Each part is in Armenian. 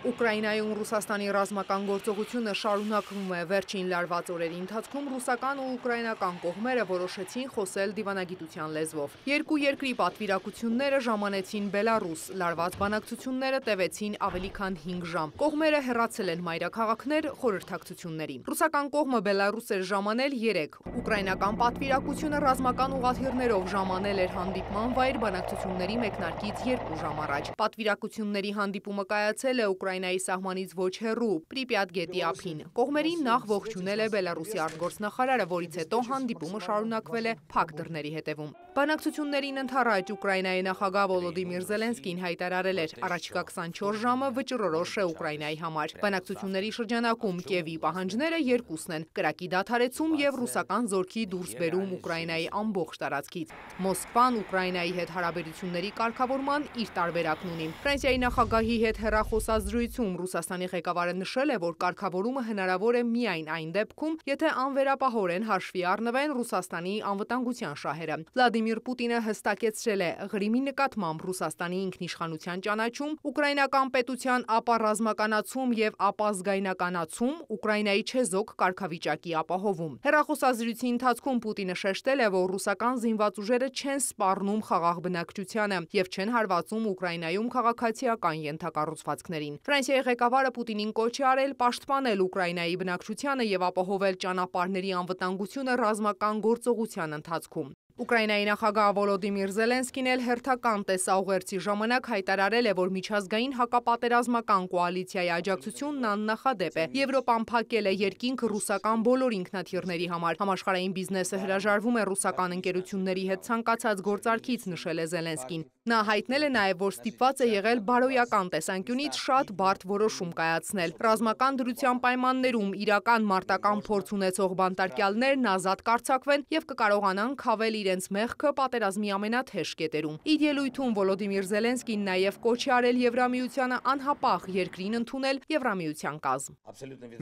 Ուկրաինայում Ռուսաստանի ռազմական գործողությունը շարունակվում է։ Վերջին լարված օրերի ընթացքում ռուսական ու ուկրաինական կողմերը որոշեցին խոսել դիվանագիտության լեզվով։ Երկու երկրի պատվիրակությունները ժամանեցին Բելարուս, լարված բանակցությունները տևեցին ավելի քան 5 ժամ։ Կողմերը հեռացել են մայրաքաղաքներ խորհրդակցությունների։ Ռուսական կողմը Բելարուս էր ժամանել 3, ուկրաինական պատվիրակությունը ռազմական ուղղաթիռներով ժամանել էր հանդիպման վայր բանակցությունների մեկնարկից 2 ժամ առաջ։ Պատվիրակությունների հանդիպումը կայացել է Ուկրաինայի սահմանից ոչ հեռու Պրիպյատ գետի ափին։ Կողմերին նախ ողջունել է Բելարուսի արտգործնախարարը, որից հետո հանդիպումը շարունակվել է փակ դռների հետևում։ Բանակցություններին ընդառաջ Ուկրաինայի նախագահ Վոլոդիմիր Զելենսկին հայտարարել էր՝ առաջիկա 24 ժամը վճռորոշ է Ուկրաինայի համար։ Բանակցությունների շրջանակում Կիևի պահանջները երկուսն են՝ կրակի դադարեցում եւ ռուսական զորքի դուրսբերում Ուկրաինայի ամբողջ տարածքից։ Մոսկվան Ուկրաինայի հետ հարաբերությունների կարգավորման իր տարբերակն ունի։ Ֆրանսիայի նախագահի հետ հեռախոսազրույցում Ռուսաստանի ղեկավարը նշել է, որ կարգավորումը հնարավոր է միայն այն դեպքում, եթե անվերապահորեն հաշվի առնվեն Ռուսաստանի անվտանգության շահերը։ Վլադիմիր Պուտինը հստակեցրել է՝ Ղրիմի նկատմամբ Ռուսաստանի ինքնիշխանության ճանաչում, ուկրաինական պետության ապառազմականացում եւ ապազգայնականացում, Ուկրաինայի չեզոք կարգավիճակի ապահովում։ Հեռախոսազրույցի ընթացքում Պուտինը շեշտել է, որ ռուսական զինված ուժերը չեն սպառնում խաղաղ բնակչությանը եւ չեն հարվածում Ուկրաինայում քաղաքացիական ենթակառուցվածքներին։ Ֆրանսիայի ղեկավարը Պուտինին կոչ է արել պաշտպանել Ուկրաինայի բնակչությանը եւ ապահովել ճանապարհների անվտանգությունը ռազմական գործողության ընթացքում։ Ուկրաինայի նախագահ Վոլոդիմիր Զելենսկին էլ հերթական տեսաուղերձի ժամանակ հայտարարել է, որ միջազգային հակապատերազմական կոալիցիայի աջակցությունն աննախադեպ է։ Եվրոպան փակել է երկինք ռուսական բոլոր ինքնաթիռների համար։ Համաշխարհային բիզնեսը հրաժարվում է ռուսական ընկերությունների հետ ցանկացած գործարքից, նշել է Զելենսկին։ Նա հայտնել է նաև, որ ստիպված է եղել բարոյական տեսանկյունից շատ բարդ որոշում կայացնել։ Ռազմական դրության պայմաններում իրական մարտական փորձ ունեցող բանտարկյալներն ազատ կարձակվեն եւ կկարողանան քավել իրենց մեղքը պատերազմի ամենաթեժ կետերում։ Իր ելույթում Վոլոդիմիր Զելենսկին նաև կոչ է արել Եվրամիությանը անհապաղ երկրին ընդունել Եվրամիության կազմ։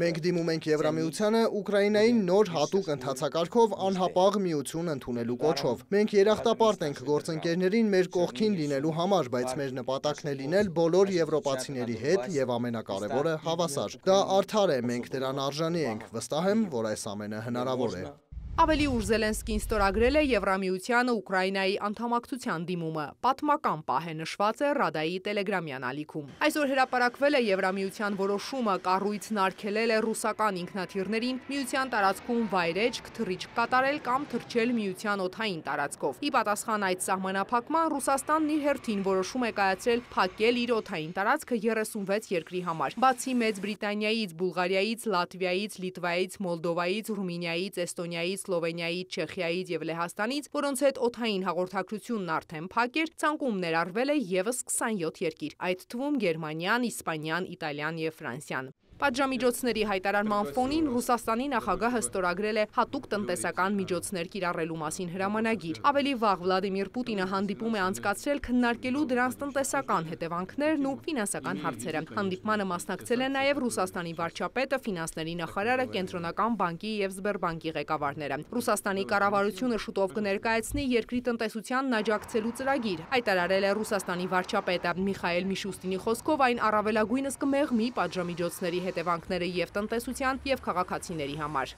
Մենք դիմում ենք Եվրամիությանը Ուկրաինային նոր հատուկ ընթացակարգով անհապաղ միություն ընդունելու կոչով։ Մենք երախտապարտ ենք գործընկերներին մեր կողքին լինելու համար, բայց մեր նպատակն է լինել բոլոր եվրոպացիների հետ եւ ամենակարևորը հավասար։ Դա արդար է, մենք դրան արժանի ենք։ Վստահ եմ, որ այս ամենը հնարավոր է։ Ավելի ուշ Զելենսկին ստորագրել է Եվրամիությանը Ուկրաինայի անդամակցության դիմումը։ Պատմական պահ է, նշված է Ռադայի տելեգրամյան ալիքում։ Այսօր հրապարակվել է Եվրամիության որոշումը կառույցն արգելել է ռուսական ինքնաթիռներին միության տարածքում վայրեջք, թռիչք կատարել կամ թռչել միության օդային տարածքով։ Ի պատասխան այդ սահմանափակման Ռուսաստանն իր հերթին որոշում է կայացրել փակել իր օդային տարածքը 36 երկրի համար։ Բացի Մեծ Բրիտանիայից, Բուլղարիայից, Լատվիայից, Լիտվայից, Մոլդովայից, Ռումինիայից, Էստոնիայից, Սլովենիայից, Չեխիայից եւ Լեհաստանից, որոնց հետ օդային հաղորդակցությունն արդեն փակ էր, ցանկում ներառվել է եւս 27 երկիր, այդ թվում Գերմանիան, Իսպանիան, Իտալիան եւ Ֆրանսիան։ Պատժամիջոցների հայտարարման ֆոնին Ռուսաստանի նախագահը ստորագրել է հատուկ տնտեսական միջոցներ կիրառելու մասին հրամանագիր։ Ավելի վաղ Վլադիմիր Պուտինը հանդիպում է անցկացրել քննարկելու դրանց տնտեսական հետևանքներն ու ֆինանսական հարցերը։ Հանդիպմանը մասնակցել են նաև Ռուսաստանի վարչապետը, ֆինանսների նախարարը, Կենտրոնական բանկի եւ Սբերբանկի ղեկավարները։ Ռուսաստանի կառավարությունը շուտով կներկայացնի երկրի տնտեսությանն աջակցելու ծրագիր, հայտարարել է Ռուսաստանի վարչապետը։ Միխայել Միշուստինի խոսքով այն առավելագույնս կմեղմի պատժամիջոցների հետևանքները եւ տնտեսության եւ քաղաքացիների համար։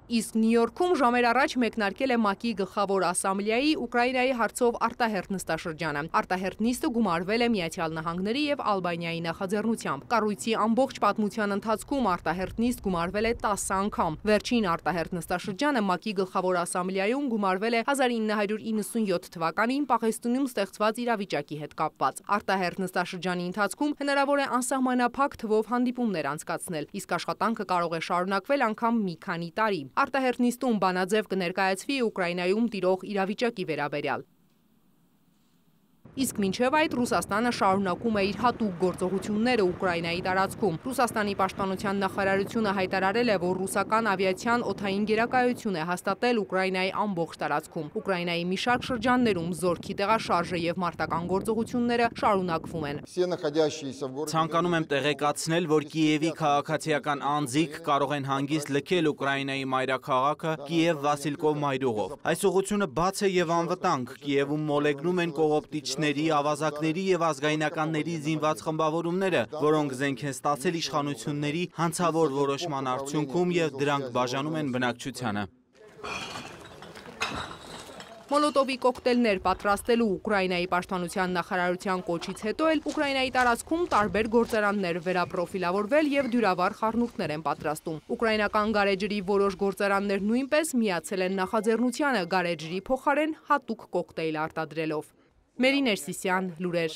Իսկ Նյու Յորքում ժամեր առաջ մեկնարկել է ՄԱԿ-ի գլխավոր ասամբլեայի Ուկրաինայի հարցով արտահերթ նստաշրջանը։ Արտահերթ նիստը գումարվել է Միացյալ Նահանգների եւ Ալբանիայի նախաձեռնությամբ։ Կառույցի ամբողջ պատմության ընթացքում արտահերթ նիստ գումարվել է 10 անգամ։ Վերջին արտահերթ նստաշրջանը ՄԱԿ-ի գլխավոր ասամբլեայում գումարվել է 1997 թվականին Պաղեստինում ստեղծված իրավիճակի հետ կապված։ Արտահերթ նստաշրջանի ընթացքում հնարավոր է անսահմանափակ թվով հանդիպումներ անցկացնել, իսկ աշխատանքը կարող է շարունակվել անգամ մի քանի տարի։ Արտահերթ նիստում բանաձև կներկայացվի Ուկրաինայում տիրող իրավիճակի վերաբերյալ։ Իսկ մինչև այդ Ռուսաստանը շարունակում է իր հատուկ գործողությունները Ուկրաինայի տարածքում։ Ռուսաստանի պաշտպանության նախարարությունը հայտարարել է, որ ռուսական ավիացիան օդային գերակայություն է հաստատել Ուկրաինայի ամբողջ տարածքում։ Ուկրաինայի մի շարք շրջաններում զորքի տեղաշարժը եւ մարտական գործողությունները շարունակվում են։ Ցանկանում եմ տեղեկացնել, որ Կիևի քաղաքացիական անձիկ կարող են հանգիստ լքել Ուկրաինայի մայրաքաղաքը Կիև-Վասիլկով մայրուղով։ Այս ուղղությունը բաց է եւ անվտանգ։ Կիևում մոլեգնում են կողոպտիչներ զինվորների, ավազակների եւ ազգայնականների զինված խմբավորումները, որոնք զենք են ստացել իշխանությունների հանցավոր որոշման արդյունքում եւ դրանք բաժանում են բնակչությանը։ Մոլոտովի կոկտեյլներ պատրաստելու Ուկրաինայի պաշտպանության նախարարության կոչից հետո էլ Ուկրաինայի տարածքում տարբեր գործարաններ վերապրոֆիլավորվել եւ դյուրավառ խառնուրդներ են պատրաստում։ Ուկրաինական գարեջրի որոշ գործարաններ նույնպես միացել են նախաձեռնությանը գարեջրի փոխարեն հատուկ կոկտեյլ արտադրելով։ Մերի Ներսիսյան, լուրեր։